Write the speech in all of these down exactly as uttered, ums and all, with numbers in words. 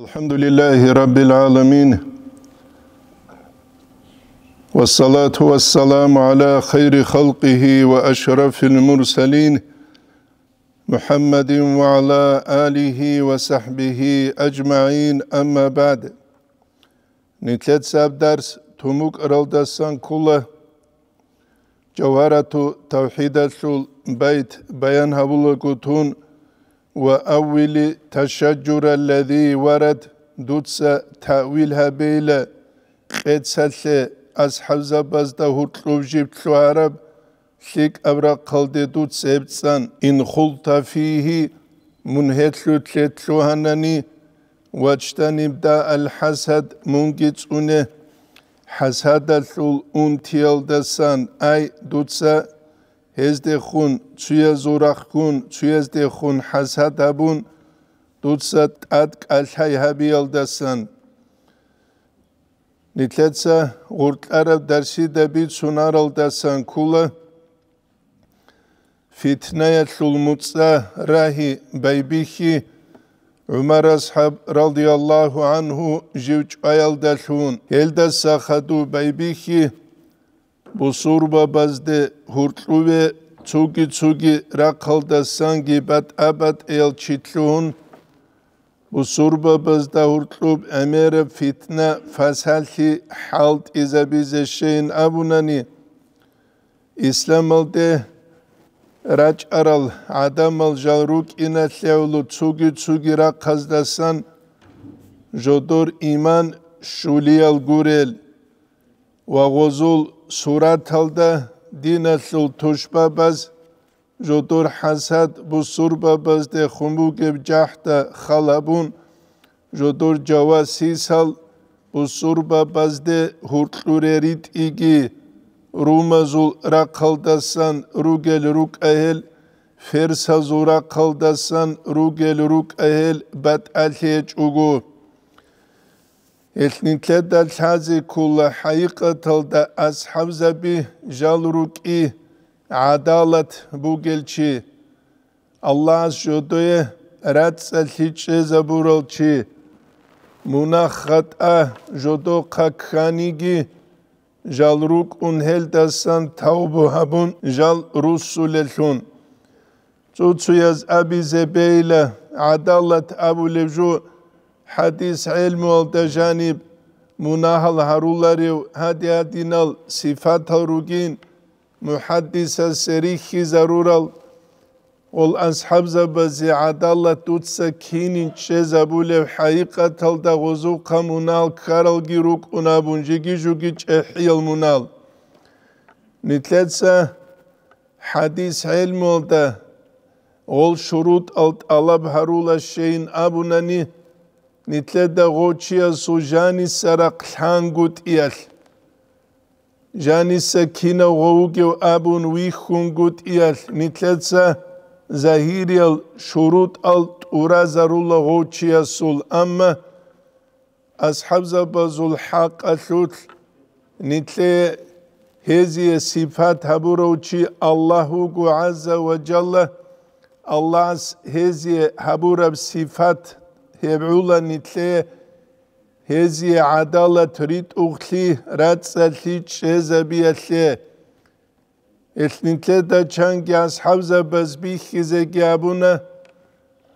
الحمد لله رب العالمين. والصلاة والسلام على خير خلقه وأشرف المرسلين محمد وعلى آله وصحبه أجمعين. أما بعد. Нилъеца гьаб дарс тумукӀаралдасан ккола. Жавгьарату тавхӀидалъул байт баян гьабулаго тун: «Ва аввили ташажжура лази варад», дуца таъвил гьабейила къецалъе асхӀабзабазда гьуркьуб жиб лъугьараб лъикӀаб рахъалде дуца гьеб цӀан: «Ин хулта фигьи», мун гьелъулъе лъугьанани, «вачтаниб да аль-хӀасад», мунги цӀуне хӀасадалъул унтиялдасан, ай, дуца гьездехун, цуязул рахъгун, цуяздехун хӀасад гьабун, дуца тӀад кӀалъай гьабиялдасан. Нилъеца гъуркьараб дарсида бицунаралдасан ккола фитнаялъул муцӀа рагьи байбихьи, ГӀумар асхӀаб, радияллагьу гӀангьу, жив чӀваялдалъун. Гьелдаса хадув байбихьи, бусурбабазде гьуркьуве цуги-цуги рахъалдасанги батӀа-батӀиял чи лъугьун, бусурбабазда гьуркьуб гӀемераб фитна-фасалъи хӀалтӀизабизе щейин абунани, исламалде рачӀарал гӀадамал жал рукӀиналъе гӀоло цуги-цуги рахъаздасан жодор иман щулиял гурел ва гъозул сураталда диналъул тушбабаз жодор хӀасад бусурбабазде хун бугеб жахӀда хал гьабун, жодор жавасисал бусурбабазде гьуркьуре ритӀиги, румазул рахъалдасан ругел рукӀа гьел, ферсазул рахъалдасан ругел рукӀа гьел батӀалъи гьечӀого. Гьелъ нилъеда лъазе ккола хӀакъикъаталда асхӀабзаби жал рукӀи гӀадалат бугел чи, Аллагьас жодое рацӀцӀалъи чӀезабурал чи, мунагь-хатӀа жодохъа кканиги, жал рукӀун гьелдасан тавбу гьабун жал руссулелъун. Цо-цояз абизе бейла гӀадалат абулеб жо, хӀадис гӀелмуялда жаниб мунагьал гьаруларев гьади-гьадинал сифатал ругин, мухӀаддисасе рихьизарурал, гъол асхӀабзабазе гӀадалат дуца кинин чӀезабулеб хӀакъикъаталда гъозухъа мунагьал ккаралги рукӀун абун, жеги-жуги чӀехӀиял мунагьал. Нилъеца хӀадис гӀелмуялда гъол шурутӀал тӀалаб гьарула щейин абунани, нилъеда гъов чиясул жаниса рахъ лъангутӀиялъ, жаниса кинав гъов вугев абун вихьунгутӀиялъ, нилъеца загьириял шурутӀал тӀуразарула гъов чиясул, амма асхӀабзабазул хӀакъалъулъ нилъее гьезие сипат гьабурав чи Аллагь вуго, гӀазза ва жалла. Аллагьас гьезие гьабураб сипат гьеб гӀула нилъее гьезие гӀадалат ритӀухълъи, рацӀцӀалъи чӀезабиялъе. Гьелъ нилъеда чанги асхӀабзабаз бихьизеги абуна,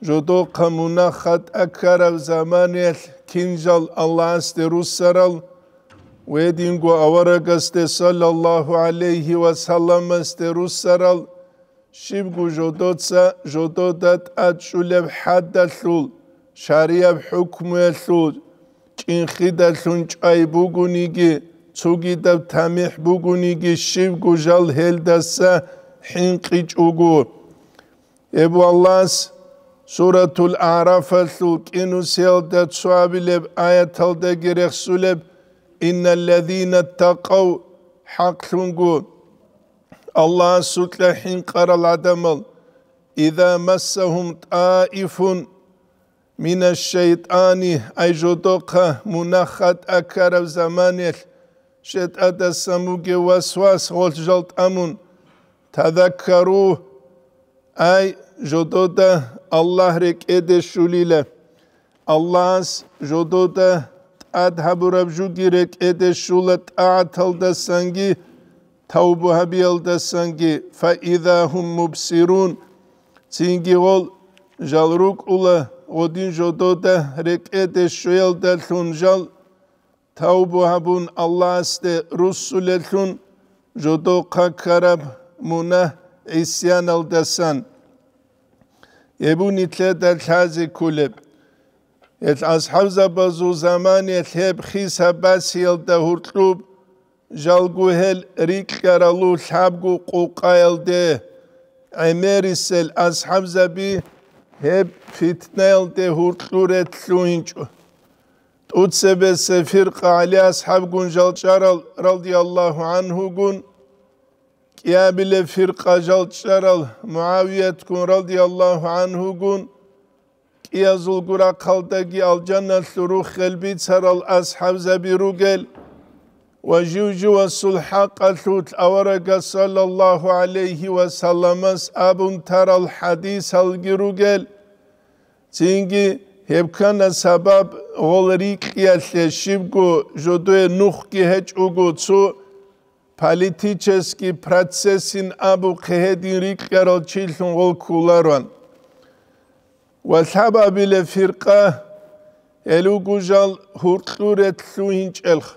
жодохъа мунагь-хатӀа ккараб заманаялъ кин жал Аллагьасде руссарал, гьединго аварагасде, саллаллагьу гӀалайгьи ва салламасде, руссарал, щибго жодоца жодода тӀад чӀулеб хӀаддалъул, шарияб хӀукмуялъул, чӀинхидалъун чӀвай бугониги, цогидаб тамихӀ бугониги, щибго жал гьелдаса хӀинкъичӀого. Гьеб Аллагьас Суратул АгӀрафалъул кӀинусиялда цо абилеб аяталдаги рехсулеб: «Инналлазина ттакъав», хӀакълъунго, Аллагьасукьа хӀинкъарал гӀадамал, «иза массагьум тӀаифун минаш-шайтӀани», ай жодохъа мунагь-хатӀа ккараб заманаялъ, шайтӀадасан бугев васвас гъолъ жал тӀамун, «тазаккару», ай жодода Аллагь рекӀеде щулила. Аллагьас жодода тӀад гьабураб жуги рекӀеде щула тӀагӀаталдасанги тавбу гьабиялдасанги, фаиза гьум мубсирун, цинги гъол жал рукӀула гъодин жодода рекӀеде щвеялдалъун жал тавбу гьабун Аллагьасде руссулелъун жодохъа ккараб мунагь гӀисяналдасан. Гьеб нилъеда лъазе кколеб. Гьел асхӀабзабазул заманиялъ гьеб хиса басиялда гьуркьуб, жалго гьел рикьаралу лъабго къукъаялде, гӀемерисел асхӀабзаби гьеб фитнаялде гьуркьуре лъугьинчӀо. ТӀуцебесеб фиркъа ГӀали асхӀабгун жал чӀарал, радияллагьу гӀанхугун, кӀиабилеб фиркъа жал чӀарал МугӀавиятгун, радияллагьу гӀанхугун, кӀиязулго рахъалдаги алжаналъул рухел бицарал асхӀабзаби ругел ва жив-живасул хӀакъалъулъ аварагас саллаллагьу гӀалайгьи ва салламас абун тарал хӀадисалги ругел, цинги гьеб ккана сабаб гъол рикьиялъе щибго жодое нухги гьечӀого цо политический процессин абухъе гьедин рикьарал чилъун гъол кколароан. Ва лъабабилеб фиркъа гьел руго жал гьуркьуре лъугьинчӀелха.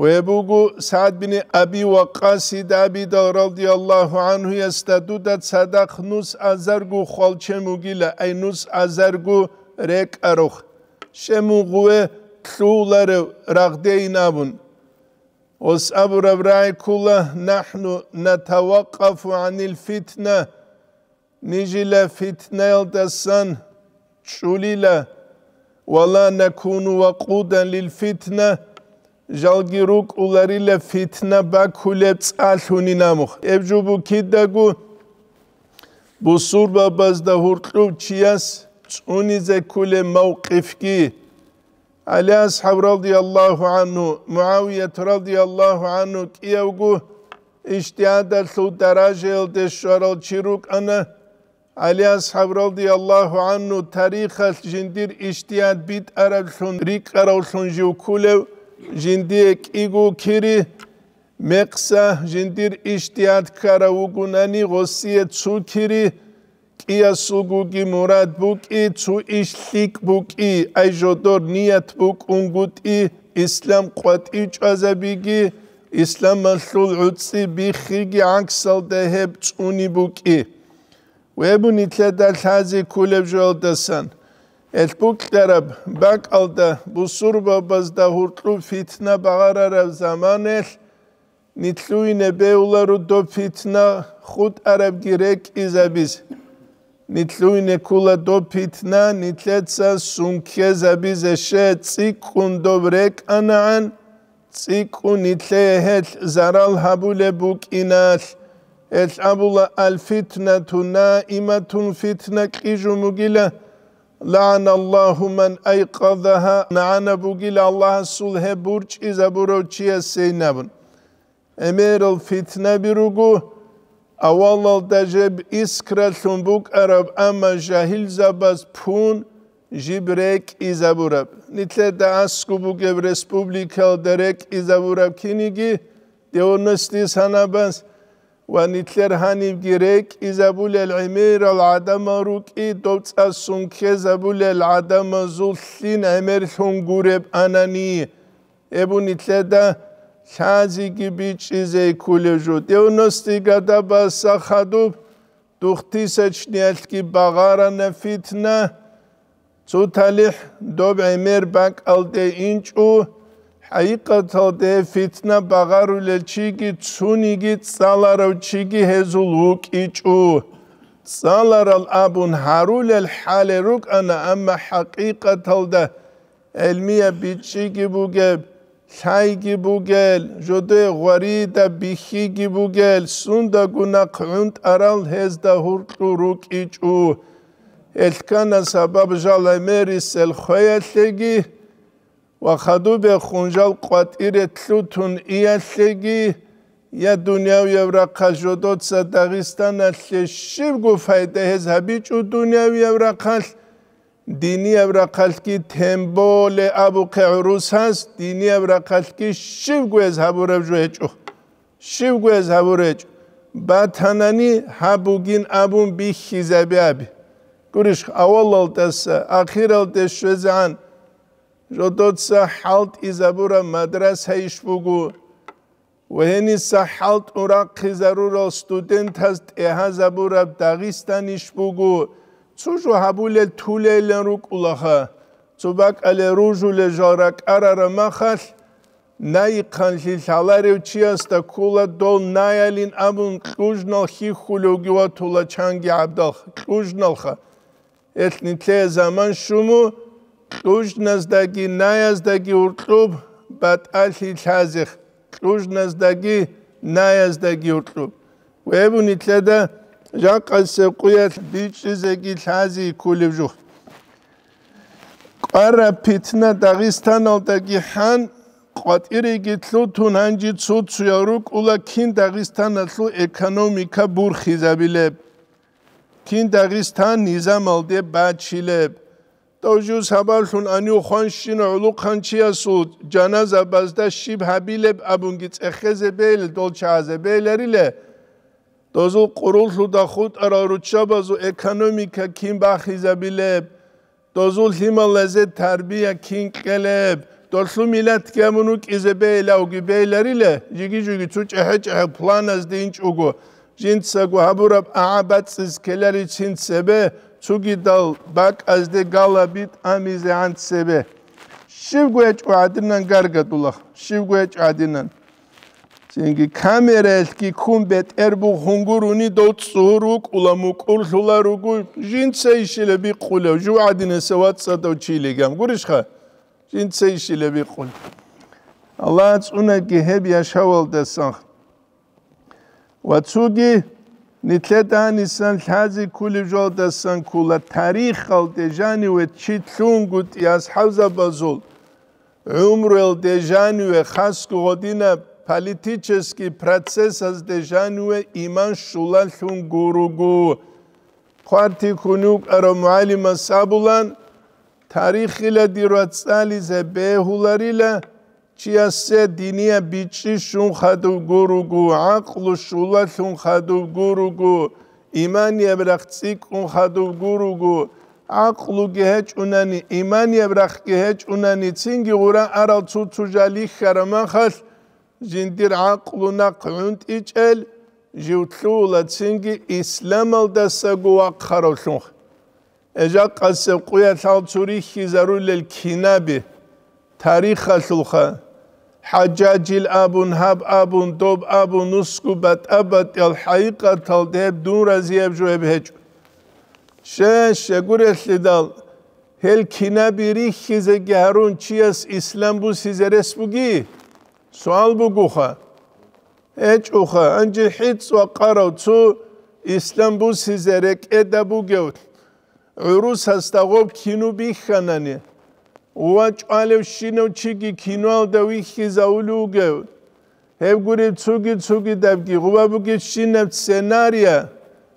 Гьеб буго СагӀд бин Аби Ваккасида абидал радияллагьу гӀанхуясда дуда цадахъ нус азарго хвалчен бугила, ай нус азарго рекӀарухъ, щемун гъуве лъугьуларев рагъдейин абун. Гъос абураб рагӀи ккола: «НахӀну натавакъафу гӀанил фитна», нижила фитнаялдасан чӀулила, «ва ла накуну вакъудан лил фитна», жалги рукӀуларила фитна бакулеб цӀалъунин абухъ. Гьеб жо буго кидаго бусурбабазда гьуркьуб чияс цӀунизе кколеб мавкъифги. ГӀали асхӀаб радияллагьу гӀанху, МугӀавият радияллагьу гӀанху кӀиявго ижтигьадалъул даражаялде щварал чи рукӀана. ГӀали асхӀаб радияллагьу гӀанху тарихалъ жиндир ижтигьад битӀараблъун рикӀкӀаравлъун жив кколев, жиндие кӀиго кири, мекъса жиндир ижтигьад ккарав вугунани, гъосие цо кири, кӀиясулгоги мурад букӀи, цо иш лъикӀ букӀи, ай жодор ният букӀунгутӀи, ислам къватӀив чӀвазабиги, исламалъул гӀуцӀи биххиги гӀаксалда гьеб цӀуни букӀи. Гьеб буго нилъеда лъазе кколеб жоялдасан. Гьел букьараб бакӀалда бусурбабазда гьуркьуб фитна багъарараб заманаялъ, нилъуйне бегьуларо доб фитна хутӀарабги рекӀизабизе. Нилъуйне ккола доб фитна нилъеца сункезабизе, щай цӀикӀкӀун доб рекӀанагӀан, цӀикӀкӀун нилъее гьелъ зарал гьабулеб букӀиналъ. Гьелъ абула: «Аль-фитнату наиматун», фитна кьижун бугила, «лагӀаналлагьу ман айкъазагьа», нагӀана бугила Аллагьасул гьеб бурчӀизабурав чиясейин абун. ГӀемерал фитнаби руго, авалалда жеб искралъун букӀараб, амма жагьилзабаз пун жиб рекӀизабураб. Нилъеда аскӀоб бугеб республикалда рекӀизабураб киниги девяностые санабаз ва нилъер гьанибги рекӀизабулел гӀемерал гӀадамал рукӀи, доб цӀа сункезабулел гӀадамазул лъин гӀемерлъун гуреб анани. Гьеб буго нилъеда лъазеги бичӀчӀизе кколеб жо. Девяностые годабаса хадуб двухтысячниялъги багъарана фитна. Цо талихӀ доб гӀемер бакӀалде инчӀо, хӀакъикъаталде фитна багъарулел чиги цониги цӀаларав чиги гьезул вукӀичӀо. ЦӀаларал абун гьарулел хӀале рукӀана, амма хӀакъикъаталда гӀелмияб бичӀчӀиги бугеб, лъайги бугел, жодое гъварида бихьиги бугел, сундаго нахъ гӀунтӀарал гьезда гьуркьу рукӀичӀо. Гьелъ ккана сабаб жал гӀемерисел хвеялъеги ва хадубехун жал къватӀире лъутун иялъеги, я дунявияб рахъалъ жодоца Дагъистаналъе щибго пайда гьез гьабичӀо дунявияб рахъалъ, Динияб рахъалъги тем более абухъе гӀурусас, динияб рахъалъги щибго гьез гьабураб жо гьечӀо. Щибго гьез гьабур гьечӀо. Батанани гьаб бугин абун бихьизаби аби. Гурищ, авалалдаса ахиралде щвезегӀан жодоца хӀалтӀизабураб мадраса иш буго. Ва гьениса хӀалтӀун рахъизарурал студентаз тӀегьазабураб Дагъистан иш буго, цо жо гьабулел тулейилан рукӀулаха, цо бакӀале ружулел жал ракӀарараб махалъ, найихъанлъи лъаларев чиясда ккола дол наялин абун кьужнал хьихьулевги ватула чанги гӀабдалха, кьужналха. Гьелъ нилъее заман щуму, кьужназдаги наяздаги уркьуб батӀалъи лъазех, кьужназдаги наяздаги уркьуб. Вебу нилъеда жакъасеб къуялъ бичӀчӀизеги лъази кколеб жух. КӀвараб питна Дагъистаналдаги хӀан, къватӀиреги лъутун гьанже цо-цоял рукӀула кин Дагъистаналъул экономика бурхизабилеб. Кин Дагъистан низамалде бачилеб? Дов жив сабаблъун гьанив хванщина гӀулухъанчиясул жаназабазда щиб гьабилеб абунги цӀехезе бейли дол чагӀазе бейлариле? Дозул къуруллъуда хутӀарал руччабазул экономика кин бахизабилеб? Дозул лъималазе тарбия кин кьелеб? Долъу милатги гьабун вукӀизе бейилавги бейлариле? Жиги-жиги цо чӀехӀе-чӀехӀе планазде инчӀого, жинцаго гьабураб агӀа бацӀцӀиз ккеларицин цебе, цугидал бакӀазде галаби тӀамизегӀан цебе. Щибго гьечӀо гӀадинан гаргадулах, щибго гьечӀо гӀадинан. Цинги камераялъги ккун бетӀер бухун гурони дов цӀугьур вукӀула, мукӀурлъула руго, жинца ишила бикъулев, жугьадинаса вацӀцӀадав чилигам. Гурищха? Жинца ишила бикъулев. Аллагь цӀунаги гьеб яшавалдасан. Ва цуги нилъеда гьанисан лъази ккулеб жолдасан ккула тарихалде жаниве чи лъунгутӀи асхӀабзабазул гӀумруялде жаниве, хасго гъодинаб политический процессазде жаниве иман щулалъун гуруго. Хъвартихьун вукӀарав мугӀалимас абулан, тарихила дир вацӀцӀализе бегьуларила, чиясе динияб бичӀчӀи щун хадуб гуруго, гӀакълу щулалъун хадуб гуруго, иманияб рахъ цӀикӀкӀун хадуб гуруго, гӀакълуги гьечӀунани, иманияб рахъги гьечӀунани, цинги гъура арал цо-цо жал рихьараб махалъ, жиндир гӀакълу нахъ гӀунтӀичӀел жив лъугьула цинги исламалдасаго вахъаравлъунха. Эжакъасеб къуялъал цо рихьизарулел кинаби, тарихалъулха, ХӀажжажил абун, гьаб абун, доб абун, нусгу батӀа-батӀиял хӀакъикъаталда гьеб дун разияб жо гьеб гьечӀо. Щай, щай гурелъидал, гьел кинаби рихьизеги гьарун чияс ислам бусизе рес буги? Суал бугоха. ГьечӀоха, гьанже хӀицӀ вакъарав цо ислам бусизе рекӀеда бугев гӀурусасда гъоб кино бихьанани, ва чӀвалевщинав чиги киноялда вихьизавулев вугев, гьеб гуреб цуги-цугидабги гъуба бугебщинаб сценария,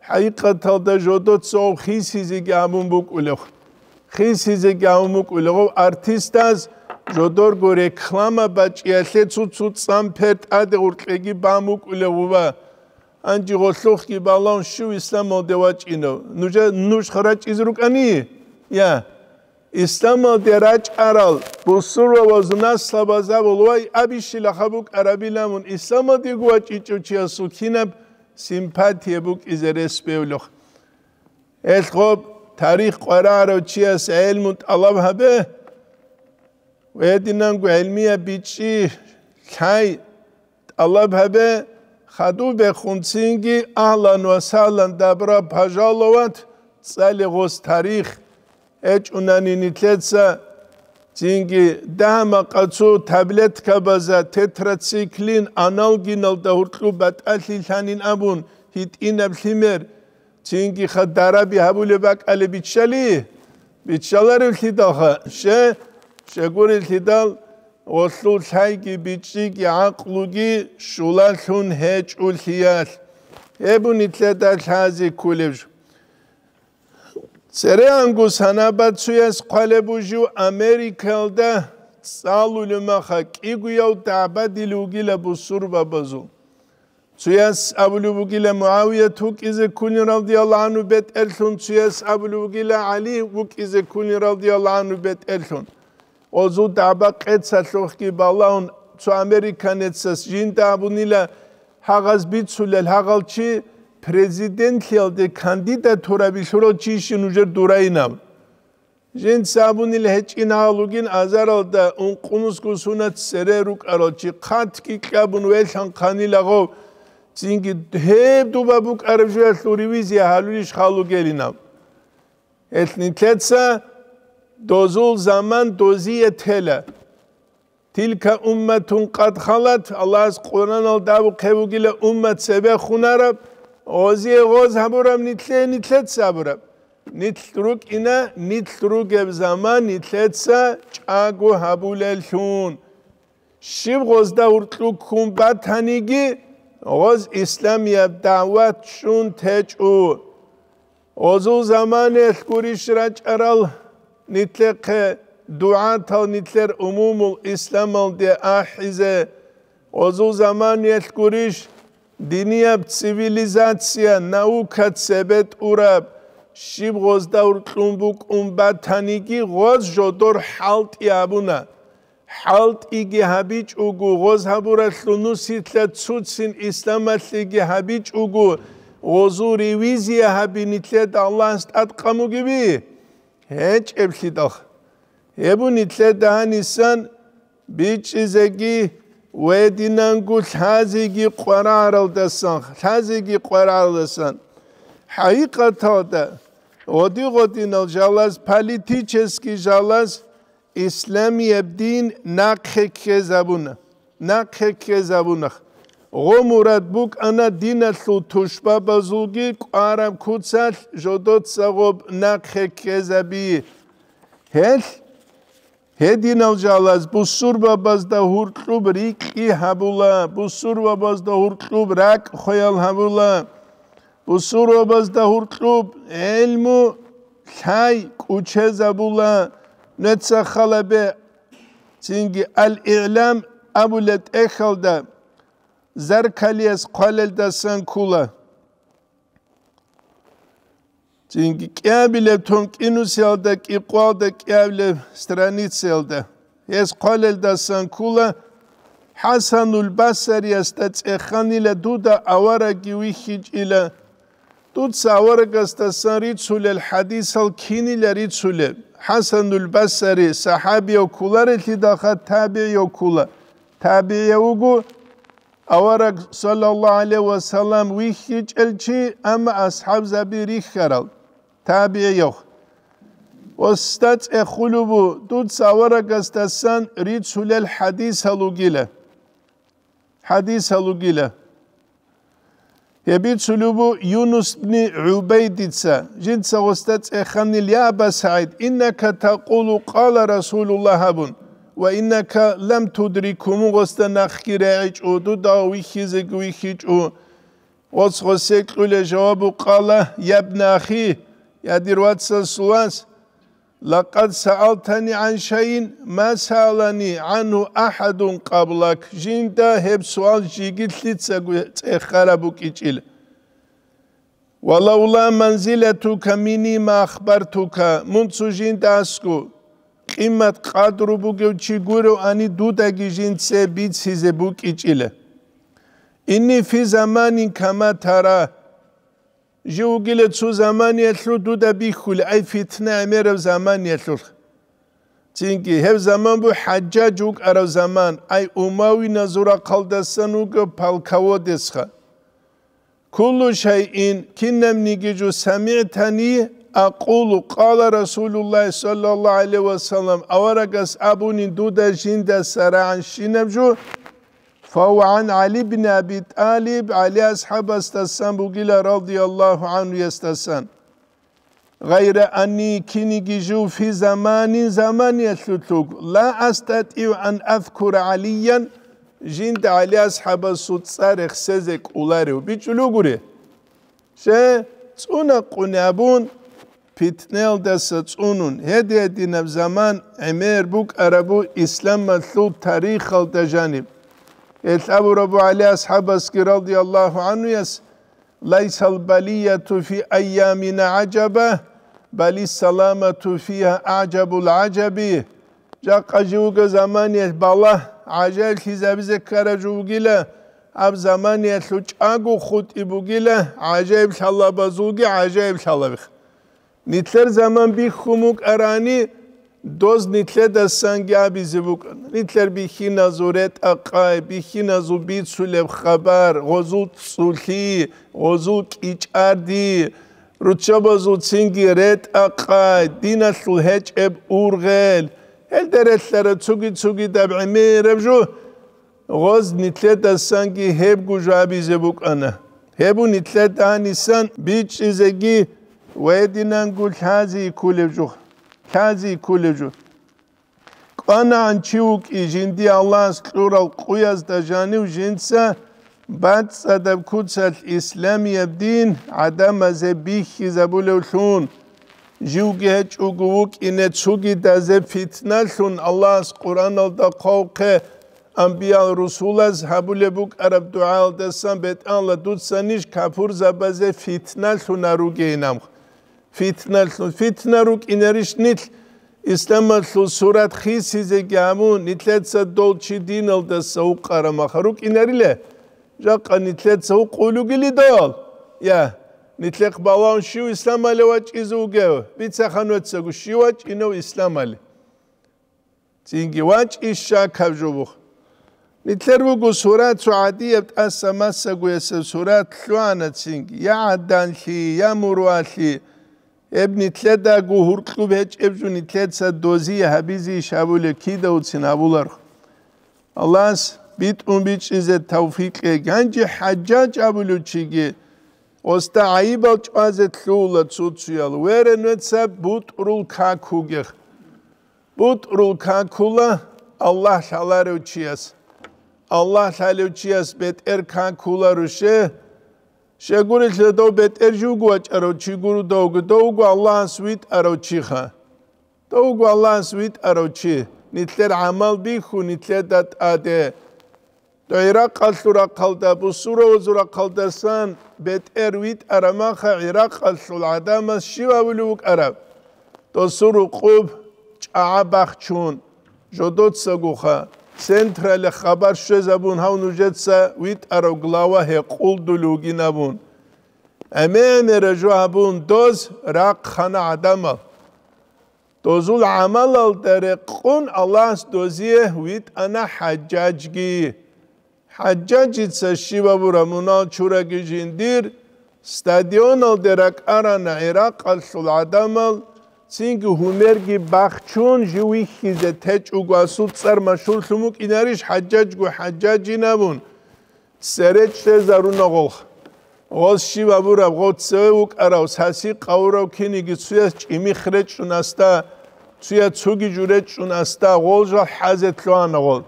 хӀакъикъаталда жодоца гъов хисизеги абун букӀулев. Хисизеги абун букӀулев гъов артистаз жодорго реклама бачӀиялъе цо-цо цӀан пер тӀаде гъоркьеги бан букӀулев гъуба. Гьанже гъолъухъги балагьун щив исламалде вачӀинав? Нужа, нуж харачӀизе рукӀани? Я. Исламалде рачӀарал бусурбабазул наслабазабул вай абищила хабукъарабилан мун исламалдего вачӀичӀев чиясул кинаб симпатия букӀизе рес бевлъухъ. Гьелъ гъоб тарих къварагӀарав чияс гӀелму тӀалаб гьабе, ва гьединанго гӀелмияб бичӀчӀи лъай тӀалаб гьабе, хадуб бехун цинги, агьлан ва сагьлан, добро пожаловать, цӀале гъос тарих. ГьечӀунани нилъеца цинги дагьа-макъа цо таблеткабаза тетрациклин аналгиналда гьоркьоб батӀалъи лъанин абун гьитӀинаб лъимер, цинги ха дараби гьабулеб бакӀалеб биччали? Биччаларевлъидалха, ще, щегурелъидал, гъолъул лъайги бичӀчӀиги гӀакълуги щулалъун гьечӀолъиялъ. Гьеб нилъеда лъази кколеб жо. Церегьанго санабад цуяс хъвалеб бугеб жо Америкаялда цӀалулеб маха кӀигояв дагӀбадилев вугила бусурбабазул. Цуяс абулеб бугила МугӀавият вукӀизе ккунин радияллагьу гӀангьу бетӀерлъун, цуяс абулеб бугила ГӀали вукӀизе ккунин радияллагьу гӀангьу бетӀерлъун. Гъозул дагӀба къецалъухъги балагьун, цо американецас жинда абунила, гьагъаз бицулел, гьагъал чи президентлъиялде кандидатура билъурал чийищин нужер дурайинаб. Жинца абунила гьечӀин гьал вугин азаралда ункънусго сунат цере рукӀарал чи хъатги кьабун велъан хъанила гъов, цинги гьеб дуба букӀараб жоялъул ревизия гьалулищ халугелинаб. Гьелъ нилъеца дозул заман дозие тела. Тилка умматун къад халат, Аллагьас Къуръаналда абухъе бугила уммат цебе хунараб, гъозие гъоз гьабураб нилъее нилъеца гьабураб. Нилъ рукӀина, нилъ ругеб заман нилъеца чӀаго гьабулеллъун. Щиб гъозда гьуркьу ккун батаниги, гъоз исламияб дагӀват щун течӀо. Гъозул заманиялъ гурищ рачӀарал нилъехъе дугӀатал нилъер умумул исламалде ахӀизе. Гъозул заманиялъ гурищ динияб цивилизация, наука цебетӀураб, щиб гъозда гьуркьун букӀун батаниги, гъоз жодор хӀалтӀи гьабуна. ХӀалтӀиги гьабичӀого, гъоз гьабуралъул нусилъа цуцин исламалъеги гьабичӀого, гъозул ревизия гьаби нилъеда Аллагьас тӀадкъан бугеби? ГьечӀеблъидал. Гьеб нилъеда гьанисан бичӀчӀизеги ва гьединанго лъазеги къварагӀаралдасан, лъазеги къварагӀаралдасан. ХӀакъикъаталда, гъоди-гъодинал жалаз, политический жалаз, исламияб дин нахъе ккезабуна, нахъе ккезабуна. Гъо мурад букӀана диналъул тушбабазулги кӀвараб куцалъ жодоца гъоб нахъе ккезаби. Гьелъ гьединал жалаз бусурбабазда гьуркьуб рикьи гьабула, бусурбабазда гьуркьуб ракӀ хвеял гьабула, бусурбабазда гьуркьуб гӀелму лъай кӀучезабула. Нуца халабе цинги Ал-ИгӀлам абулеб тӀехьалда Заркалияс хъвалелдасан ккола. Цинги кӀиабилеб тонкӀинусиялда кӀикъвалда кӀиабилеб страницаялда гьес хъвалелдасан ккола, ХӀасанул Басариясда цӀеханила дуда аварагги вихьичӀила. Дуца аварагасдасан рицулел хӀадисал кинила рицулеб? ХӀасанул Басари сахӀабияв кколарелъидалха табигӀияв ккола. ТабигӀияв вуго, авараг, саллаллагьу гӀалайгьи ва саллам, вихьичӀел чи, амма асхӀабзаби рихьарал, табигӀияв. Гъосда цӀехулеб буго, дуца аварагасдасан рицулел хӀадисал ругила. ХӀадисал ругила. Гьеб бицулеб буго Юнус бни ГӀубайдица, жинца гъосда цӀеханил: «Я Аба СагӀид, иннака такъулу къала Расулуллагь», – абун, «ва иннака лам тудрикгьу», мун гъосда нахъги регӀичӀо, дуда вихьизеги вихьичӀо. Гъос гъосе кьула жавабу къала: «Я бна ахи, я дир вацасул вас, лакъад саалтани гӀан шайин ма саалани гӀангьу ахӀадун къаблак», жинда гьеб суал жеги лъицаго цӀехараб букӀичӀила. «Ва лавла манзилатука минни ма ахбартука», мун цо жинда асго къимат-къадру бугев чи гуроани, дудаги жинце бицизе букӀичӀила. «Инни фи заманин кама тара», жив вугила цо заманиялъул дуда бихьулеб, ай, фитна гӀемераб заманиялъул. Цинги гьеб заман буго ХӀажжаж вукӀарав заман, ай, умавиназул рахъалдасан вуго полководецха. «Куллу шайин», кинабниги жо, «самигӀтани акъулу къала Расулуллагь саллаллагьу гӀалайгьи ва саллам», аварагас абунин дуда жиндаса рагӀанщинаб жо, «фагьува гӀан ГӀали бин Аби ТӀалиб», ГӀали асхӀабасдасан бугила, радияллагьу гӀангьуясдасан. «Гъайра анни», киниги жив, «фи заманин», заманиялъулъ вуго, «ла астатӀигӀу ан азкура ГӀалиян», жинда ГӀали асхӀабасул цӀар рехсезе кӀоларев бичӀчӀулев гури. Че цӀунакъуни абун, питнаялдаса цӀунун, гьедин-гьединаб заман гӀемер букӀарабу исламалъул тарихалда жаниб. Гьелъ абурабу ГӀали асхӀабасги радияллагьу гӀанхуяс: «Лайсал балияту фи айямина гӀажаба, балис саламату фиха агӀжабул гӀажаби». Жакъа живго заманиялъ балагь гӀажаиблъизабизе ккараб жо бугила, гьаб заманиялъул чӀаго хутӀи бугила, гӀажаиблъалабазулги гӀажаиблъалабихъ. Нилъер заман бихьун букӀарани, доз нилъедасанги абизе букӀана. Нилъер бихьиназул ретӀа-къай, бихьиназул бицулеб хабар, гъозул цӀцӀулъи, гъозул кӀичӀарди, руччабазул цинги ретӀа-къай, диналъул гьечӀеб ургъел, гьелда релълъараб цуги-цугидаб гӀемераб жо. Гъоз нилъедасанги гьебго жо абизе букӀана. Гьеб нилъеда гьанисан бичӀчӀизеги ва гьединанго лъази кколеб жо, лъази кколеб жо. КӀванагӀан чи вукӀи жиндие Аллагьас кьурал къуязда жанив жинца бацӀцӀадаб куцалъ исламияб дин гӀадамазе бихьизабулевлъун, живги гьечӀого вукӀине цугидазе питналъун Аллагьас Къуръаналда хъвавухъе, амбиял-русулаз гьабулеб букӀараб дугӀаялдасан: «БетӀалла, дуца ниж капурзабазе фитналъуна ругейин», амха. Фитналъун, фитна рукӀинарищ нилъ? Исламалъул сурат хисизеги гьабун, нилъеца дол чи диналдаса вукъарамаха рукӀинарила? Жакъа нилъеца вукъулугили дол? Я, нилъехъ балагьун щив исламале вачӀизе вугев? Бицаха нужецаго, щив вачӀинев исламале. Цинги вачӀищ щакаб жо бух. Нилъер буго сурат цо гӀадияб тӀаса массагоясеб сурат лъугӀана цинги, я гӀаданлъи, я мурвалъи. Гьеб нилъедаго гьуркьуб гьечӀеб жо нилъеца дозие гьабизейищ абулеб кидавцин гьабуларх. Аллагьас битӀун бичӀчӀизе тавфикъ кьеги. Гьанже ХӀажжаж абулев чиги, гъосда гӀайибал чӀвазе лъугьула цо-цоял, верен вецаб бутӀрул как вугех. БутӀрул какула Аллагь лъаларев чияс. Аллагь лъалев чияс бетӀер какуларо ще. Щегурелъа дов бетӀер живго вачӀарав чи гуро довго, довго Аллагьас витӀарав чиха. Довго Аллагьас витӀарав чи, нилъер гӀамал бихьу нилъеда тӀаде. ГӀиракъалъул рахъалда, бусурбабазул рахъалдасан бетӀер витӀарамаха, гӀиракъалъул гӀадамаз щив абулев вукӀараб? Досул рукъуб чӀагӀа бахчун, жодоцагоха, централе хабар щвезабун, гьав нужеца витӀарав глава гьекъолдулев вугин абун. ГӀемер-гӀемераб жо гьабун, доз рахъана гӀадамал. Дозул гӀамалалда рекъон Аллагьас дозие витӀана ХӀажжажги. ХӀажжажица щиб абураб мунагь чураги жиндир, стадионалде ракӀарана гӀиракъалъул гӀадамал, цинги гьумерги бахчун жив вихьизе течӀого, асул цӀар машгьурлъун вукӀинарищ ХӀажжажго ХӀажжажин абун. Цере чӀезаруна гъолх. Гъос щиб абураб, гъо цеве вукӀарав, саси къавурав киниги цуяс чӀимих речӀчӀун асда, цуя цуги жу речӀчӀун асда, гъол жал хӀазе лъугьана гъол.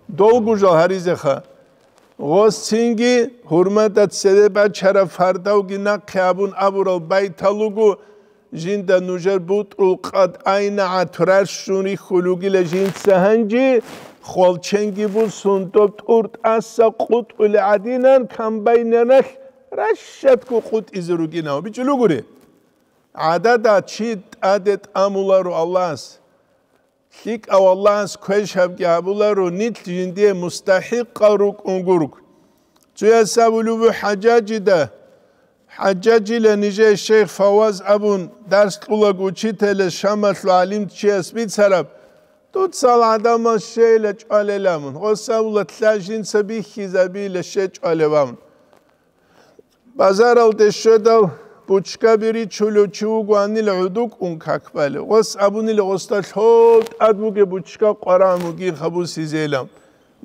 Долго жал гьаризеха. Гъос цинги гьурмада цеве бачараб фардавги нахъе абун абурал байтал руго, жинда нужер бутӀрул къад айнагӀат рарщун рихьулугила жинца гьанже, хвалченги бусун доб тӀур тӀаса къутӀулеб гӀадинан комбайнаналъ ращадго къутӀизе ругинав. БичӀчӀулугури. ГӀадада чи тӀаде тӀамуларо Аллагьас. ЛъикӀав Аллагьас квешабги гьабуларо, нилъ жиндие мустахӀикъал рукӀун гург. Цуяс абулеб буго ХӀажжажида, ХӀажжажила нижее шейх Фаваз абун дарс кьулаг учителас Шамалъул гӀалимчияс бицараб, дуцал гӀадамал щейила чӀвалел абун, гъос абула, лъа жинца бихьизабила ще чӀвалев абун. Базаралде щведал, бучкаби ричулев чи вугоанила гӀодукӀун как балев. Гъос абунила гъосда лъол тӀад бугеб бучка къварагӀун вугин хабусизейилан.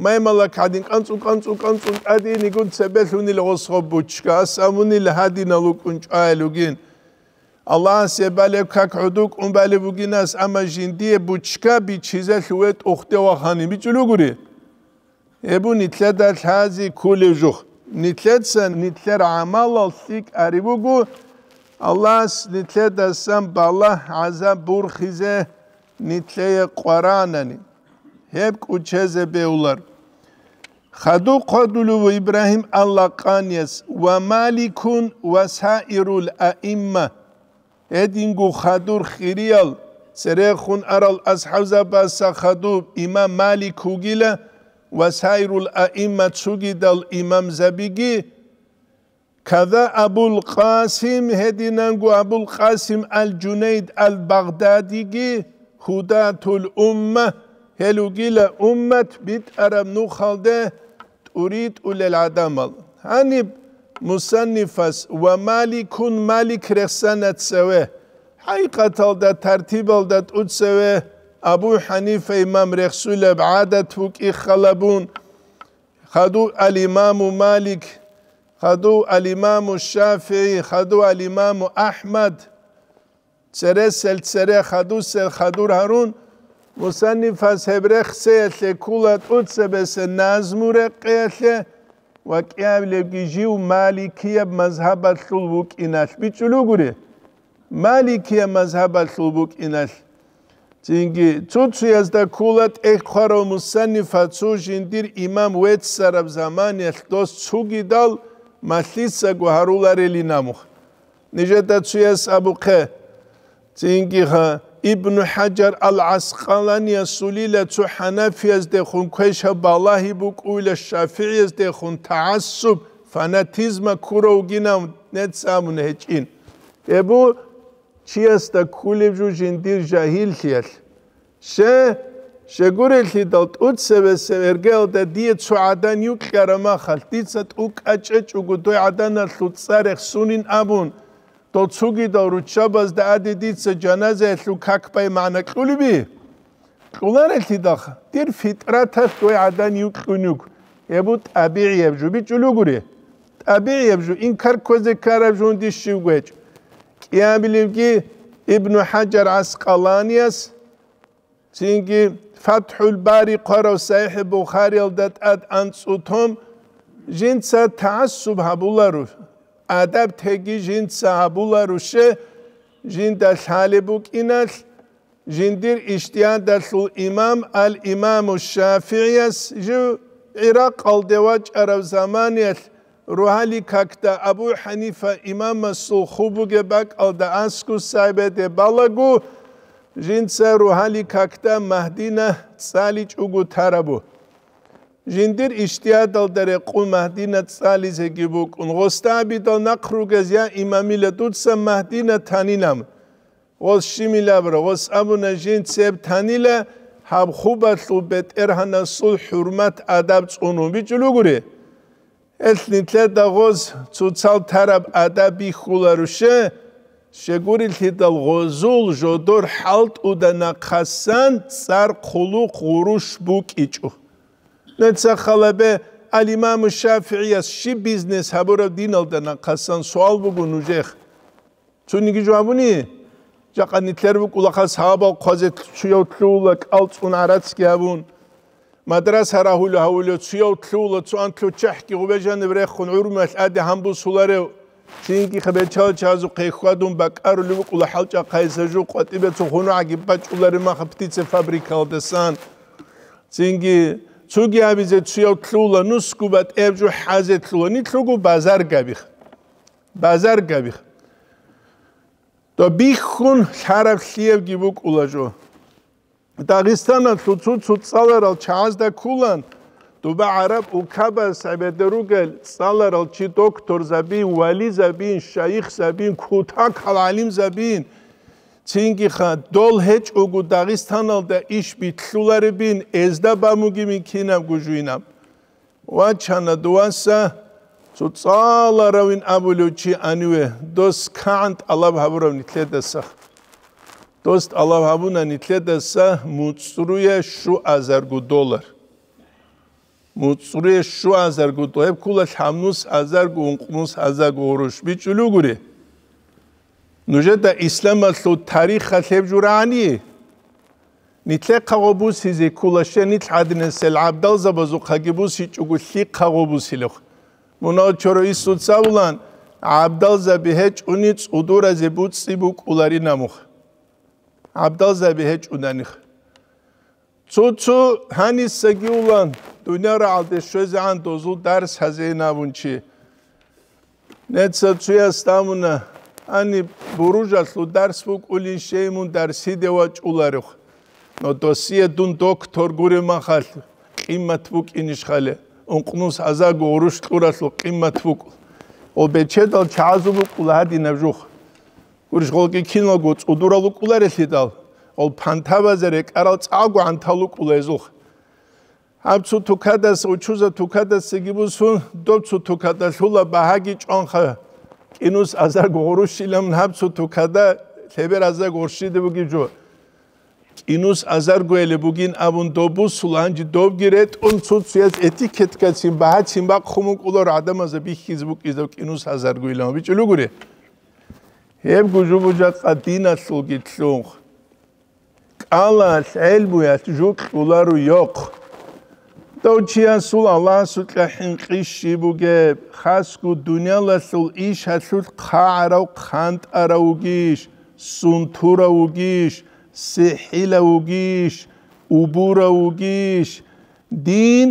Маймалак гӀадин кӀанцӀун-кӀанцӀун-кӀанцӀун тӀадинигун цебелъунила гъос гъоб бучка. Ас абунила гьадинал вукӀун чӀваялугин. Аллагьас гьеб балеб как гӀодукӀун балеб бугин ас, амма жиндие бучка бичизелъ ве тӀухде вахани бичӀулугури. Гьеб нилъеда лъази кколев жух. Нилъеца нилъер гӀамалал лъикӀ ари буго, Аллагьас нилъедасан балагь-гӀазаб бурхизе нилъее къваранани, гьеб кӀучезе бегьулар. Хадуб хъвадулев Ибрагьим ал-Лакъанияс: «Ва Маликун ва саирул аимма». Гьединго хадур хириял, церехун арал асхӀабзабаса хадуб имам Малик вугила ва саирул аимма цугидал имамзабиги, када Абул Къасим, гьединанго Абул Къасим ал-Жунейд ал-Багъдадиги, гьудатул умма, гьел вугила уммат битӀараб нухалде тӀуритӀулел гӀадамал. Гьаниб мусаннифас ва Маликун, Малик рехсана цеве. ХӀакъикъаталда тартибалда тӀуцеве Абу ХӀанифа имам рехсулеб гӀадат букӀи халабун, хадув ал-Имаму Малик, хадув ал-Имаму ШафигӀи, хадув ал-Имаму АхӀмад, цересел цере хадусел хадур гьарун, мусаннифас гьеб рехсеялъе ккула тӀуцебесеб назму рекъеялъе ва кӀиабилебги жив маликияб мазгьабалъул вукӀиналъ бичӀчӀулугури, маликияб мазгьабалъул букӀиналъ. Цинги цо-цоязда ккула тӀехь хъварав мусаннифа цо жиндир имам веццараб заманиялъ дос цугидал малъисаго гьаруларелин абун. Нижеда цояс абухъе, цинги ха, Ибну ХӀажар ал-ГӀаскъаланиясулила цо хӀанафияздехун квешаб балагьи букӀуйла шафигӀияздехун тагӀассуб, фанатизма ккурав вугинав нецц абун гьечӀин. Гьеб бу чиясда кколеб жо жиндир жагьиллъиялъ. Ще, щегурелъидал тӀуцебесеб эргеялда дие цо гӀадан юкьараб махалъ, дица тӀукӀа чӀечӀого дой гӀаданалъул цӀа рехсунин абун, дол цугидал руччабазда аде дица жаназаялъул как бай магӀна кьулеби? Кьуларелъидалха, дир фитӀраталъ дой гӀадан юкьун юго, гьеб бу тӀабигӀияб жо бичӀчӀулугури. ТӀабигӀияб жо, инкар кквезе ккараб жо гьунде щивго гьечӀо. КӀиабилебги Ибну ХӀажар ГӀаскъаланияс, цинги ФатхӀул Бари хъварав СахӀихӀ Бухариялда тӀад анцӀу том, жинца тагӀассуб гьабуларо, адаб теги жинца гьабуларо, ще, жинда лъалеб букӀиналъ, жиндир ижтигьадалъул имам ал-Имаму ШафигӀияс жив ГӀиракъалде вачӀарав заманиялъ, рогьалил какда Абу ХӀанифа имамасул ху бугеб бакӀалда аскӀов сайбеде балаго, жинца рогьалил какда Магьдина цӀаличӀого тарабу. Жиндир ижтигьадалда рекъон Магьдина цӀализеги букӀун, гъосда абидал нахъ ругез: «Я имамила, дуца Магьдина танилан». Гъос щибилабра, гъос абуна: «Жинца гьеб танила, гьаб хубалъул бетӀергьанасул хӀурмат-адаб цӀунун бичӀчӀулугури». Гьелъ нилъеда гъоз цоцал тараб адаб бихьуларо, ще, щегурелъидал гъозул жодор хӀалтӀуда нахъасан цӀар хъулухъ гъурущ букӀичӀо. Нецахъ гьалабе, ал-Имаму ШафигӀияс щиб бизнес гьабураб диналда нахъасан суал буго нужехъ. Цониги жо абуни, жакъа нилъер букӀулаха сагьабал хъвазе цуяв лъугьула кӀал цӀун гӀарацги гьабун, мадраса рагьулев гьавулев цуяв лъугьула, цо анлъго чехӀги гъубе жаниб рехун гӀурмуялъ аде гьанбусуларев, цинги хабечал чазухъе хьвадун бакӀарулев букӀула хӀалчӀахъайса жо къватӀибе цо хунугӀаги бачӀулареб маха птицефабрикалдасан. Цинги цоги абизе цуяв лъугьула, нусго батӀияб жо хӀазе лъугьула, нилъго базар габих. Базар габих. Доб бихьун лъараб лъиябги букӀула жо. Дагъистаналъул цо-цо цӀаларал чагӀазда кколан, доба гӀараб улкабаз гӀебеде ругел цӀаларал чи докторзабин, вализабин, шайихзабин, кутакал гӀалимзабин, цинги ха, дол гьечӀого Дагъистаналда иш битлъуларебин, эзда бамугебин кинабго жуйнаб. Вачана дуваса цо цӀаларавин абулев чи аниве, дос кагӀан тӀалаб гьабурав нилъедаса. Дос тӀалаб гьабуна нилъедаса муцӀруе щуазарго доллар. МуцӀруе щуазарго доллар. Гьеб ккола лъабнус азарго, ункънус азарго гъурущ. БичӀчӀулугури. Нужеда исламалъул тарихалъ гьеб журагӀани? Нилъехъа гъо бусизе ккола, ще нилъ гӀадинасел гӀабдалзабазухъаги бусичӀого лъихъа гъо бусилев. Мунагьал чорой исуца абулан, ГӀабдалзаби гьечӀони цӀудуразе буцӀцӀи букӀуларин абун. ГӀабдалзаби гьечӀонаниха. Цо-цо гьанисаги улан, дуниял рагӀалде щвезегӀан дозул дарс гьазейин абун чи. Нецал цуяс абуна, гьаниб буружалъул дарс букӀулин, щей мун дарсиде вачӀуларев. Но досие дун доктор гуреб махалъ, къимат букӀинищ хале, ункънус азарго гъурущ кьуралъул къимат букӀу. Гъол бечедал чагӀазул букӀула гьадинаб жух. Гурищ, гъолги киналго цӀудурал вукӀуларелъидал, гъол пантабазе рекӀарал цӀакъго гӀантал вукӀула гьезулх. Гьаб цо тукадас, учуза тукадасаги бусун, доб цо тукада лъула багьаги чӀванха, кӀинус азарго гъурущилан гьаб цо тукада лъебер азарго гъурщиде бугеб жо. КӀинус азаргойилеб бугин абун доб бусула, гьанже добги ретӀун цо-цояс этикеткацин багьацин бахъун букӀуларо гӀадамазда бихьизе букӀизаб кӀинус азаргойилан бичӀчӀулугури. Гьеб гужу-бужахъа диналъулги лъун. КӀалалъ гӀелмуялъ жо кьоларо йохъ. Дов чиясул Аллагьасукьа хӀинкъи щиб бугеб, хасго дуниялалъул иш гьалъулъ хъагӀарав хъантӀарав вугищ, сунтурав вугищ, сихӀилав вугищ, убурав вугищ, дин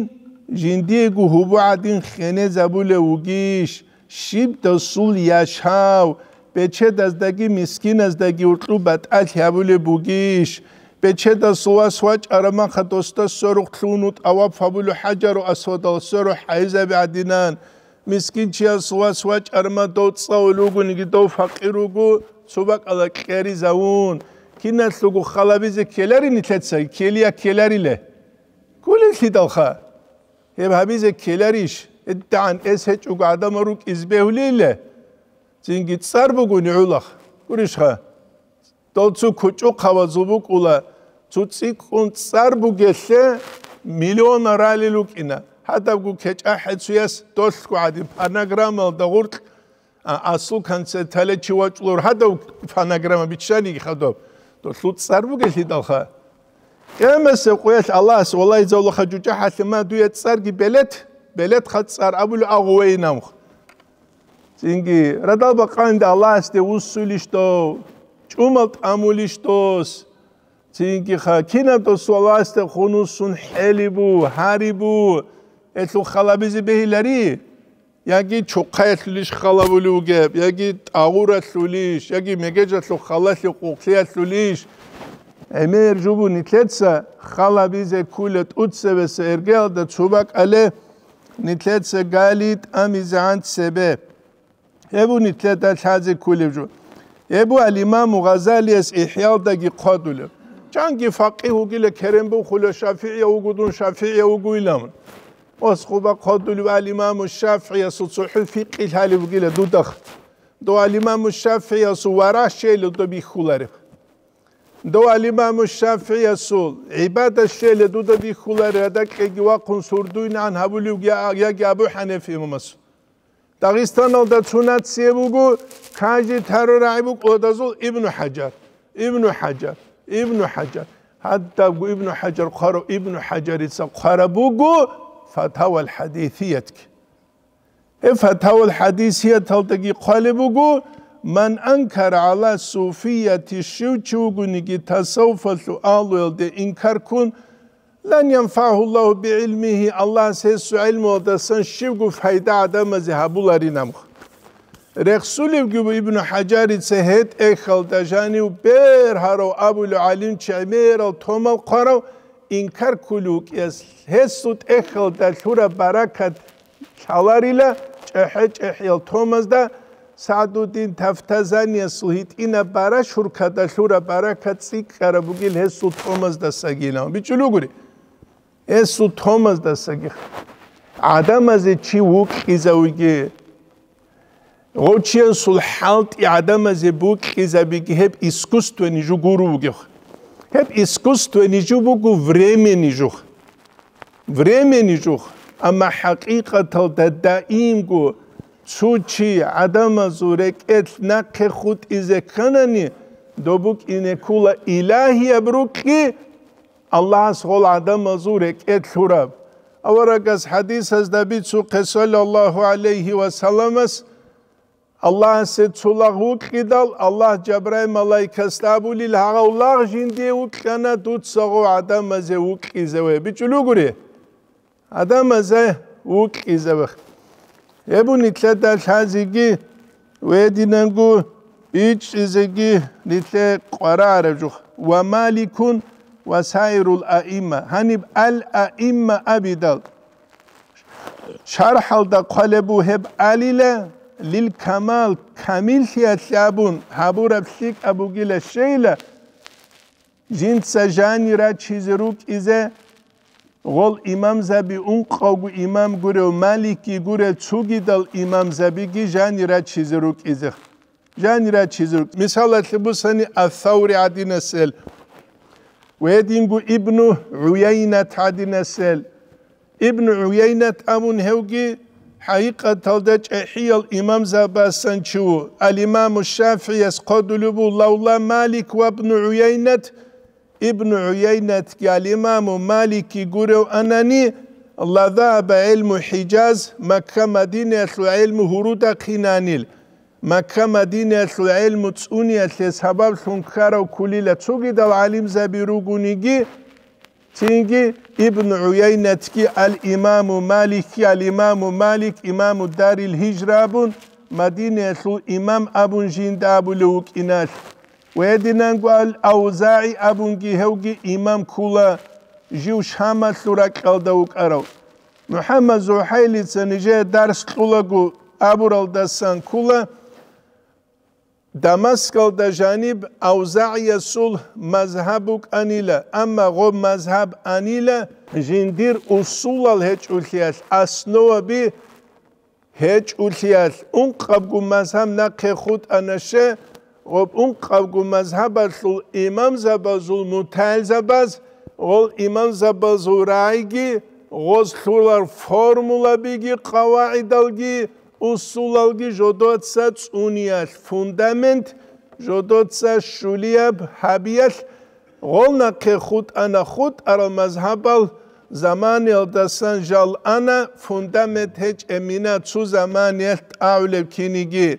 жиндиего гьубу гӀадин хенезабулев вугищ, щиб досул яшав, бечедаздаги мискиназдаги уркьу батӀалъи гьабулеб бугищ? Бечедасул вас вачӀараб маха досда сверухълъун тӀаваф гьабулев хӀажару асвадал сверухъ гӀайзаби гӀадинан, мискинчиясул вас вачӀараб ма дов цӀалулев вугониги дов факъир вуго, цо бакӀала кьеризавун. Киналъулго халабизе ккеларин нилъецаги, ккелия ккелариле. Кколеллъидалха. Гьеб гьабизе ккеларищ? ГьедигӀан эс гьечӀого гӀадамал рукӀизе бегьулейилла? Цинги цӀар бугони гӀолохъ. Гурищха? Дол цо кучӀухъабазул букӀула, цо цӀикӀкӀун цӀар бугелъе миллион ралел рукӀина. Гьадабго кечӀахӀе цояс долъго гӀадин, фонограммалда гъоркь А, асул концертале чи вачӀулев гьадав фонограмма биччаниги хадуб, долъул цӀар бугелъидалха. Къиямасеб къоялъ Аллагьас валлагьизавулаха жужахӀалъе ма дуе цӀарги белет, белетха цӀар абулев агъувейин амх. Цинги радал бакъанде Аллагьасде вуссулищ дов, чӀумал тӀамулищ дос. Цинги ха кинаб досул Аллагьасде хунусун хӀелибу, гьарибу, элъул халабизе бегьилари. Яги чухъаялъулищ халабулев вугеб, яги тӀагъуралъулищ, яги мегежалъул халалъи къухълъиялъулищ. ГӀемер жубу нилъеца халабизе ккула тӀуцебеса эргеялда цо бакӀале, нилъеца гали тӀамизегӀан цебе. Гьебу нилъеда лъазе ккулеб жо. Гьебу ал-Имаму Гъазалияс ИхӀялдаги хъвадулеб. Чанги факъигь вугила, керен бухула, шафигӀияв вуго дун, шафигӀияв вугойилан. Ос хъуба хъвадулев ал-Имаму ШафигӀиясул цохӀо фикъи лъалеб бугила дудахъ. Дов ал-Имаму ШафигӀиясул варагь щейилан доб бихьулареб. Дов ал-Имаму ШафигӀиясул гӀибадат щейилан дуда бихьулареб, гьадакьеги вахъун сурдуйнагӀан гьабулев я-, яги Абу ХӀанифа имамасул. Дагъистаналда цо нация буго, каждый таро рагӀи букӀладазул Ибну ХӀажар, Ибну ХӀажар, Ибну ХӀажар. Гьадабго Ибну ХӀажар хъварав, Ибну ХӀажарица хъвараб буго Фатавал ХӀадисиятги. Гьеб Фатавал ХӀадисияталдаги хъвалеб буго, ман анкара гӀала суфияти, щив чи вугониги тасаввуфалъул агьлуялде инкар ккун, Лан янфагьу Аллагьу бигӀилмигьи, Аллагьас гьесул гӀилмуялдасан щибго пайда гӀадамазе гьабуларин амх. Рехсулевги ву Ибну ХӀажарица гьеб тӀехьалда жанив бергьарав абулев гӀалимчи гӀемерал томал хъварав инкар ккулев вукӀиялъ, гьесул тӀехьалда лъураб баракат лъаларила чӀехӀе-чӀехӀиял томазда, СагӀдуддин Тафтазаниясул гьитӀинаб бара шуркада лъураб баракат цӀикӀкӀараб бугил гьесул томаздасагилан. БичӀчӀулугури, гьесул томаздасаги. ГӀадамазе чи вукьизавиги, гъочиясул хӀалтӀи гӀадамазе букьизабиги гьеб искусствони жо гуро вугев. Гьеб искусствони жо буго времени жо. Времени жо, амма хӀакъикъаталда даимго цо чи гӀадамазул рекӀелъ нахъе хутӀизе кканани, доб букӀине ккола илагьияб рукъги, Аллагьас гъол гӀадамазул рекӀелъ лъураб. Аварагас хӀадисазда бицухъе, саллаллагьу гӀалайгьи ва салламас, Аллагьасе цо лагъ вукьидал, Аллагь Жабраил малаикасда абулел, гьагъав лагъ жиндие вукьана, дуца гъов гӀадамазе вукьизаве. БичӀчӀулугури? ГӀадамазе вукьизаве. Гьеб нилъеда лъазеги ва гьединанго бичӀчӀизеги нилъее къваригӀараб жо. Ва Маликун ва саирул аимма. Гьаниб ал-аимма абидал, шархӀалда хъвалеб буго гьеб алила, лил камал, камиллъиялъе абун гьабураб лъикӀаб бугила щейила, жинца жани рачизе рукӀизе, гъол имамзаби, ункъавго имам гурев, Маликги гурев, цогидал имамзабиги жани рачизе рукӀизе. Жани рачизе рукӀ-, мисалалъе бусани, Ас-Саври гӀадинасел, ва гьединго Ибну ГӀуяйнат гӀадинасел. Ибну ГӀуяйнат абун гьевги хӀакъикъаталда чӀехӀиял имамзабасан чи ву. Ал-Имаму ШафигӀияс хъодулеб буго: «Лавла Малик ва Ибну ГӀуяйнат», Ибну ГӀуяйнатги ал-Имаму Маликги гурев анани, «ла загьаба гӀилму ХӀижаз», Макка-Мадинаялъул гӀилму гьурудахъинанил. Макка-Мадинаялъул гӀелму цӀуниялъе сабаблъун ккарав кколила цогидал гӀалимзаби ругониги, цинги Ибн ГӀуяйнатги, ал-Имаму Маликги, ал-Имаму Малик, Имаму Дарил Гьижра абун, Мадинаялъул имам абун жинда абулев вукӀиналъ. Ва гьединанго ал-АвзагӀи абунги гьевги имам ккола, жив Шамалъул ракьалда вукӀарав. МухӀаммад ЗухӀайлица нижее дарс кьулаго абуралдасан ккола, Дамаскалда жаниб АвзагӀиясул мазгьаб букӀанила, амма гъоб мазгьаб анила жиндир усулал гьечӀолъиялъ, основаби гьечӀолъиялъ. Ункъабго мазгьаб нахъе хутӀана ще, гъоб ункъабго мазгьабалъул имамзабазул мутагӀилзабаз, гъол имамзабазул рагӀиги, гъоз лъурал формулабиги, къавагӀидалги, усулалги жодоца цӀуниялъ, фундамент жодоца щулияб гьабиялъ, гъол нахъе хутӀана хутӀарал мазгьабал заманиялдасан жал ана, фундамент гьечӀеб мина цо заманиялъ тӀагӀулеб киниги.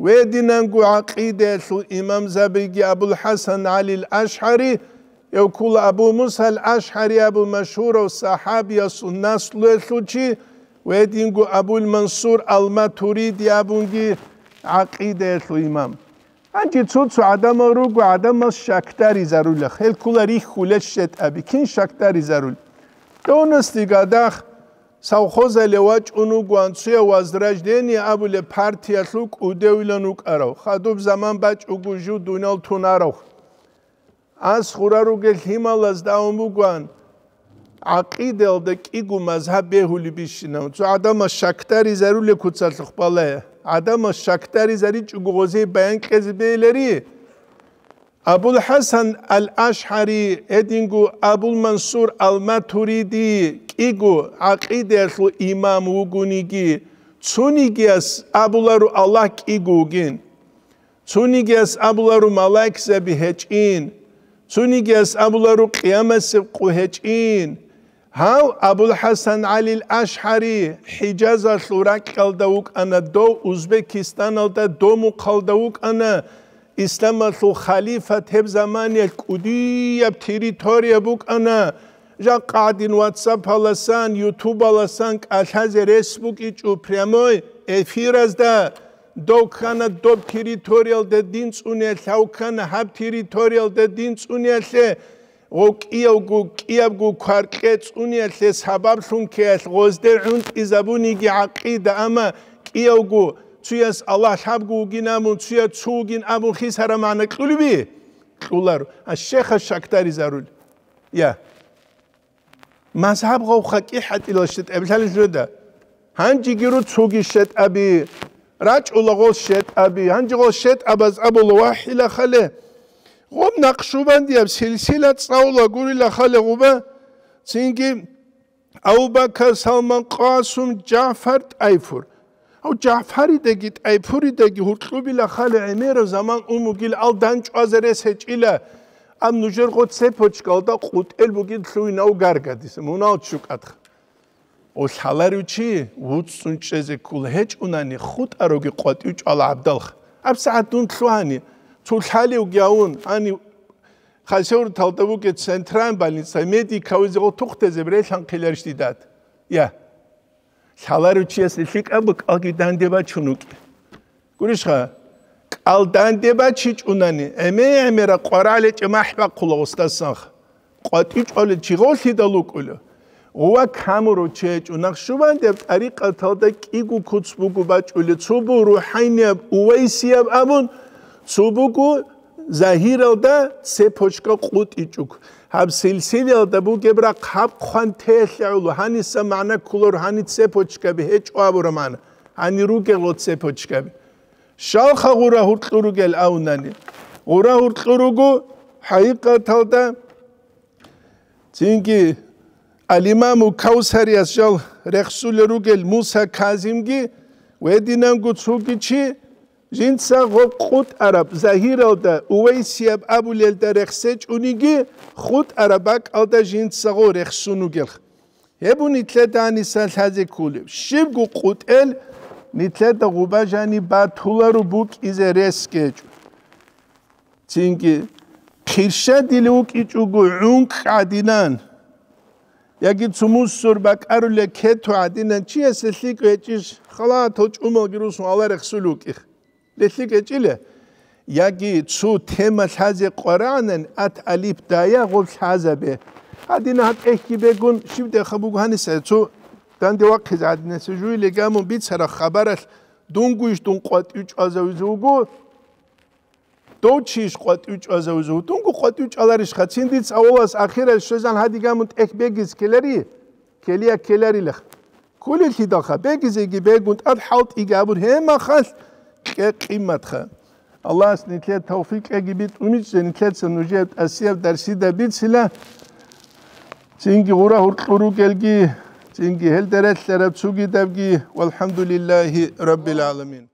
Гьединанго гӀакъидаялъул имамзабиги Абул-ХӀасан ГӀалил АшгӀари, гьев ккола Абу Мусал АшгӀари абу машгьурав сахӀабиясул наслуялъул чи, гьединго Абул-Мансур ал-Матуриди абунги гӀакъидаялъул имам. Гьанже цо-цо гӀадамал руго, гӀадамал щакдаризарулех, гьел ккола рихьулел щетӀаби, кин щакдаризарул? Кьонасдеги гьадахъ совхозале вачӀун вугоан, цояв Возрождение абулеб партиялъул кӀудевилан вукӀарав, хадуб заман бачӀого жив дуниял тунарав. Ас хура ругел лъималазда абун бугоан, гӀакъидаялда кӀиго мазгьаб бегьулеб бищинав. Цо гӀадамал щакдаризарулел куцалъухъ балагье. ГӀадамал щакдаризаричӀого гъозие баян кьезе бегьилари. Абул-ХӀасан ал-АшгӀари, гьединго Абул-Мансур ал-Матуриди кӀиго гӀакъидаялъул имам вугониги, цонигияс абуларо Аллагь кӀиго вугин. Цонигияс абуларо малаикзаби гьечӀин. Цонигияс абуларо къиямасеб къо гьечӀин. Гьав Абул-ХӀасан ГӀалил АшгӀари ХӀижазалъул ракьалда вукӀана, дов Узбекистаналда, дов Мухъалда вукӀана, исламалъул халифат гьеб заманиялъ кӀудияб территория букӀана. Жакъа гӀадин WhatsApp-аласан, YouTube-аласан кӀалъазе рес букӀичӀо прямой эфиразда. Дов ккана доб территориялда дин цӀуниялъе, гьав ккана гьаб территориялда дин цӀуниялъе, гъов кӀиявго, кӀиябго кваркье цӀуниялъе сабаблъун ккеялъ гъозде гӀунтӀизабуниги гӀакъида, амма кӀиявго цуяс Аллагь лъабго вугин абун, цуяс цо вугин абун хисараб магӀна кьулеби? Кьуларо. А щехас щакдаризарул. Я. Мазгьаб гъавха кӀихӀатӀилал щетӀаби лъалел жо да. Гьанжеги руцоги щетӀаби, рачӀула гъол щетӀаби, гьанже гъол щетӀабаз абула вахӀила хале. Гъоб Накъшубандияб силсила цӀалула гурила хале гъуба, цинги Абу-Бакар, Салман, Къасум, Жафар, ТӀайфур. Гьав Жафаридаги ТӀайфуридаги гьуркьубила хале гӀемерав заман ун бугил ал дандчӀвазе рес гьечӀила, ам нужер гъо цепочкалда къутӀел бугин лъугьинав гаргадиса, мунал чукӀадха. Гъо лъаларев чи вуцӀцӀун чӀезе ккола гьечӀунани, хутӀароги къватӀив чӀвала гӀабдалха. АбсагӀат дун лъугьани, цо лъалевги авун, гьани Хасавюрталда бугеб центральный больница, медикавизе гъо тухтезе релъанхъиларищ дидад? Я. Лъаларев чиясе лъикӀаб бакӀалги данде бачун вукӀи. Гурищха, кӀал данде бачичӀунани, гӀеме-гӀемера къварагӀлъи гьечӀеб махӀ бахъула гъосдасанха. КъватӀив чӀвалел чи гъолъидал вукӀула. Гъова камурав чи гьечӀо, Накъшубандияб тӀарикъаталда кӀиго куц буго бачӀулел, цо буго рухӀайнияб, увайсияб абун, цо буго загьиралда цепочка къутӀичӀого. Гьаб силсилаялда бугеб рахъ гьаб хъван телъагӀула, гьаниса магӀна кколаро, гьани цепочкаби гьечӀо абураб магӀна, гьани ругелъул цепочкаби. Щалха гъура гьуркьу ругел авунани? Гъура гьуркьу руго хӀакъикъаталда. Цинги Ал-Имаму Кавсарияс жал рехсулел ругел Муса Казимги ва гьединанго цоги чи, жинца гъо къутӀараб загьиралда увайсияб абулелда рехсечӀониги, хутӀараб бакӀалда жинца гъо рехсун ругелха. Гьеб нилъеда гьаниса лъазе кколеб. Щибго къутӀел нилъеда гъоба жаниб батуларо букӀизе рес гьечӀо. Цинги хъирщадил вукӀичӀого гӀункӀ гӀадинан, яги цо мусор бакӀарулеб кету гӀадинан чиясе лъикӀ гьечӀищ, халатал чӀумалги русун Аллагь рехсулев вукӀи. ЛъикӀ гьечӀила. Яги цо тема лъазе къварагӀанани, ат алиф дая гъоб лъазабе. Гьадина гьаб тӀехьги бегун, щиб дехъа буго гьаниса, цо данде вахъизе гӀадинаса жуй легамун бицараб хабаралъ, дунгуйищ дун къватӀив чӀвазавизе вуго? Дов чийищ къватӀив чӀвазавизе вуго? Дунгу къватӀив чӀваларищха? Цин дица авалас ахирал щвезан гьадигамун тӀехь бегиз ккелари? Ккелия ккеларилаха. Кколелъидалха, бегизеги бегун, тӀад хӀалтӀиги абун, гьеб мехалъ кье-, къиматха. Аллагьас нилъее тавфикъ кьеги битӀумичӀчӀе, нилъеца нужее тӀасияб дарсида бицила, цинги гъура гьуркьу ругелги, цинги гьелда релълъараб цугидабги, валхӀамдулиллагьи раббил гӀаламин.